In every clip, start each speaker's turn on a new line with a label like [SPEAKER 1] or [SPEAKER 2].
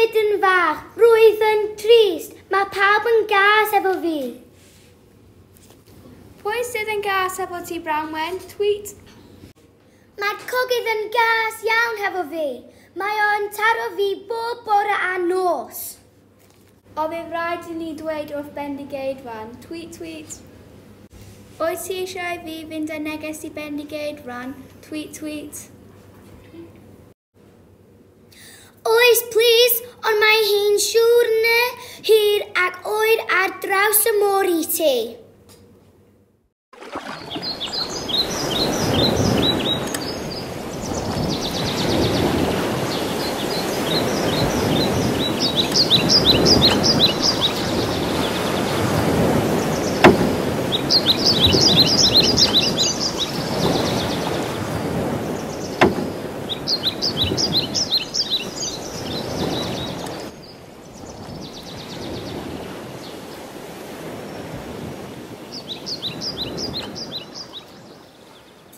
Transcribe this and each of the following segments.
[SPEAKER 1] Rhedyn fach, rwyf yn trist. Mae pawb yn gas efo fi.
[SPEAKER 2] Pwy sydd yn gas efo ti, Branwen? Tweet.
[SPEAKER 1] Mae'r cogydd yn gas iawn hefo fi. Mae o'n taro fi bob bore a nos.
[SPEAKER 2] O, fydd rhaid i ni dweud wrth Bendigeidfran. Tweet, tweet. Wyt ti eisiau fi fynd â neges i Bendigeidfran? Tweet, tweet.
[SPEAKER 1] Oes, plis, ond mae hi'n siwrne hir ac oer ar draws y môr i ti.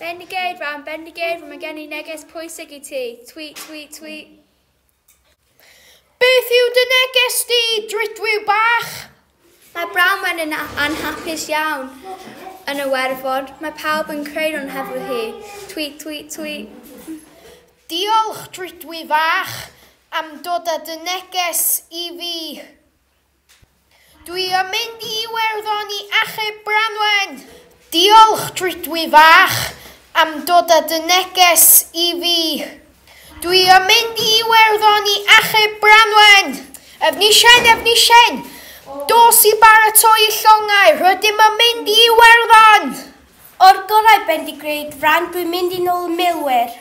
[SPEAKER 2] Bendigeidfran, Bendigeidfran, mae gen i neges pwysig i ti. Tweet, tweet, tweet.
[SPEAKER 3] Beth yw dy neges di, drudwyw bach?
[SPEAKER 2] Mae Branwen yn anhapus iawn yn y Werddon. Mae pawb yn creulon hefo hi. Tweet, tweet, tweet.
[SPEAKER 3] Diolch, drudwy fach, am dod â dy neges i fi. Dwi yn mynd i Iwerddon i achub Branwen. Diolch, drudwy fach, am dod â dy neges i fi. Dwi yn mynd i Iwerddon i achub Branwen. Efnisien, Efnisien, dos i baratoi y llongau, rydym yn mynd i Iwerddon.
[SPEAKER 4] O'r gorau, Bendigeidfran, dwi'n mynd i nôl y milwyr.